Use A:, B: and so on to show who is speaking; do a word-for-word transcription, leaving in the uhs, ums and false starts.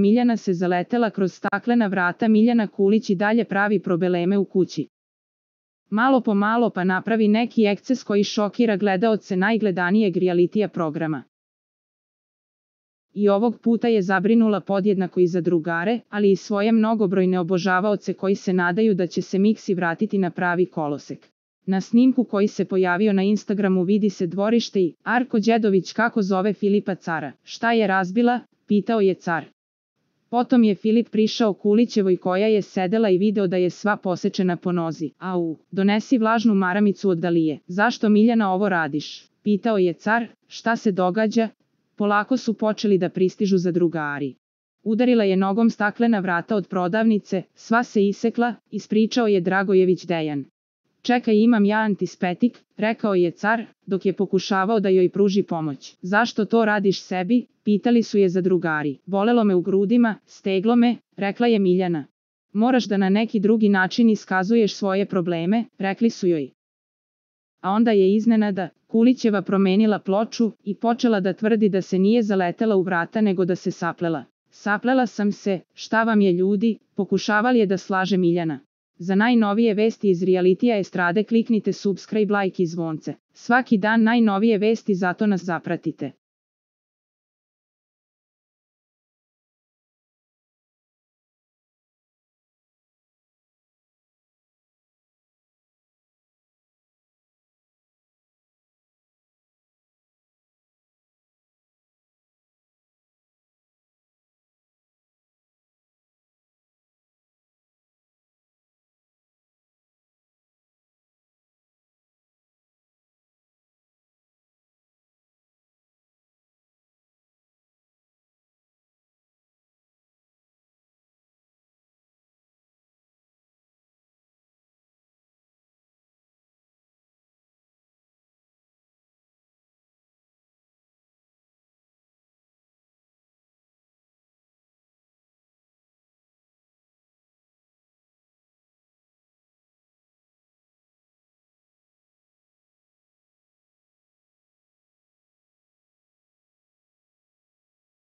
A: Miljana se zaletela kroz staklena vrata. Miljana Kulić i dalje pravi probleme u kući. Malo po malo pa napravi neki eksces koji šokira gledaoce najgledanijeg realitija programa. I ovog puta je zabrinula podjednako i za drugare, ali i svoje mnogobrojne obožavaoce koji se nadaju da će se Miksi vratiti na pravi kolosek. Na snimku koji se pojavio na Instagramu vidi se dvorište i Arko Đedović kako zove Filipa Cara. Šta je razbila? Pitao je Car. Potom je Filip prišao Kulićevoj koja je sedela i video da je sva posečena po nozi. Au, donesi vlažnu maramicu od Dalije. Zašto Miljana ovo radiš? Pitao je Car. Šta se događa? Polako su počeli da pristižu zadrugari. Udarila je nogom staklena vrata od prodavnice, sva se isekla, ispričao je Dragojević Dejan. Čekaj, imam ja antispetik, rekao je Car, dok je pokušavao da joj pruži pomoć. Zašto to radiš sebi? Pitali su je zadrugari. Bolelo me u grudima, steglo me, rekla je Miljana. Moraš da na neki drugi način iskazuješ svoje probleme, rekli su joj. A onda je iznenada Kulićeva promenila ploču i počela da tvrdi da se nije zaletela u vrata nego da se saplela. Saplela sam se, šta vam je ljudi, pokušavali je da slaže Miljana. Za najnovije vesti iz realitija estrade kliknite subscribe, like i zvonce. Svaki dan najnovije vesti, zato nas zapratite.